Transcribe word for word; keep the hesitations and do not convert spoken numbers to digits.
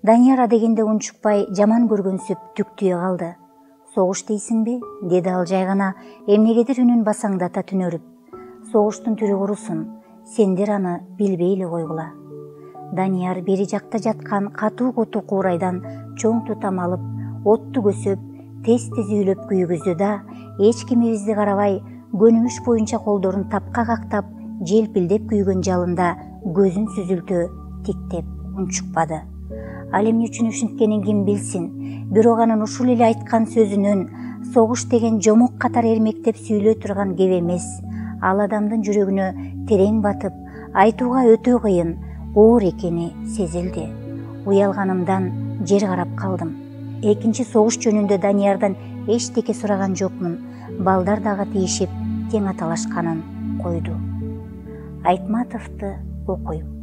Данияр адегенде унчукпай жаман көргөнсүп түктүе калды. Согуш дейсиңби? Деди ал жай гана эмнегедир үнүн басаңдата түнөрүп. Согуштун түрү курусун, сендер аны билбей эле койгула. Данияр бери жакта жаткан катуу куту куурайдан чоң тутам алып, отту көсөп, тез-тез үйлөп күйгүздү да, эч кимибизди карабай, көнүмүш боюнча колдорун тапка кактап, желпилдеп күйгөн жалында көзүн сүзүлтө тиктеп унчукпады. Ал эмне үчүн ушинткенин ким билсин, бирок анын ушул эле айткан сөзүнөн согуш деген жомок катар эрмектеп сүйлөй турган кеп эмес, ал адамдын жүрөгүнө терең батып, айтууга өтө кыйын, оор экени сезилди. Уялганымдан жер карап калдым. Экинчи согуш жөнүндө Даниярдан эчтеке сураган жокмун. Балдар дагы тийишип, тең аталашканын койду. Айтматовду окуйм.